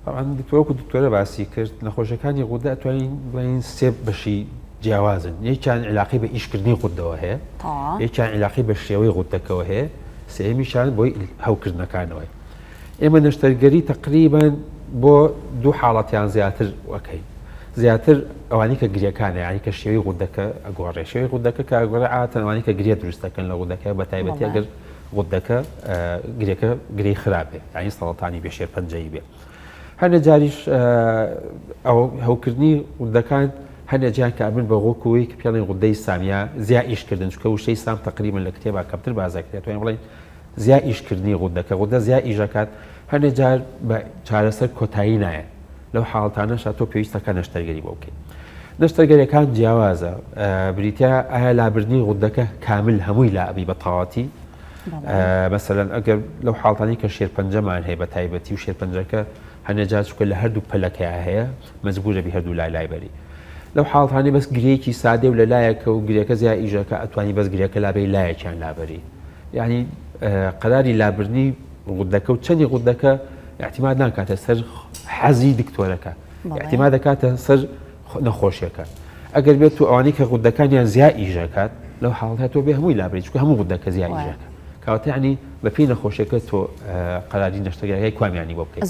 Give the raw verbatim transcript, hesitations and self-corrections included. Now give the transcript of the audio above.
طبعا دکتۆر وەکو دکتۆرە باسی کرد نەخۆشەکانی غودە ئەتوانین بڵێین سێ بەشی جیاوازن. یەکیان علاقەی بە ئیشکردنی غودەوە هەیە، یەکیان علاقەی بە شێوەی غودەکەوە هەیە، سێیەمیشان بۆی هەوکردنەکانەوەی. ئێمە نەشتەرگەری تقریبا بۆ دوو حاڵەتیان زیاتر وەکەین. زیاتر ئەوانەی کە گرێکانە، یعنی کە شێوەی غودەکە ئەگۆڕێ. شێوەی غودەکە کە ئەگۆڕێ عادەتەن ئەوانەی کە گرێ دروست دەکەن لە غودەکە، بە تایبەتی ئەگەر غودەکە گرێکە گرێی خراپ بێ، یعنی سەڵەتانی بێ، شێرپەنجەیی بێ. هەندێک جاریش هەوکردنی غودەکان هەندێک جار کە ئەبن بە غۆکوی کە پێڵێن غودەی سامیا زیا ئیشکردن، چونکە وشەی سام تقریبا لە کتێبا کەمتر بازەکرێت، توانین بڵێین زیا ئیشکردنی غودەکە، غودە زیا ئیشەکات. هەندێک جار بە چارەسەر کۆتایی نایەن، لەو حاڵتانەشا تۆ پێویستەکە نەشتەرگەری بۆ بکەیت. نەشتەرگەریەکان جیاوازە، بریتە ئایا لابردنی غودەکە کامل هەمووی لا ئەبی بە تەواوەتی؟ مەسەلەن ئەگەر لەو حاڵتانی کە شێرپەنجەمان هەیە بە تایبەتی و شێرپەنجەکە هەندێک جار چونکە لە هەردوو پەلەکەیا هەیە مەجبورە بی هەردوو لای لای بەری. لەو حاڵتانی بەس گرێکی سادە و لە لایەکە و گرێکە زیاد ئیژەکە ئەتوانی بەس گرێکە لابەی لایەکیان لابەری. یعنی قەراری لابردنی غودەکە و چەندی غودەکە اعتماد ناکاتە سەر حەزی دکتۆرەکە، اعتماد دەکاتە سەر نەخۆشیەکە. ئەگەر بێت و ئەوانەی کە غودەکانیان زیاد ئیژەکات لەو حاڵەتە تۆ بێ هەمووی لابەری، چونکە هەموو غودەکە زیاد ئیژەکە. کەواتە یعنی بەپێی نەخۆشیەکە تۆ قەراری نەشتەرگەریەکەی کوامیانی بۆ بکەیت.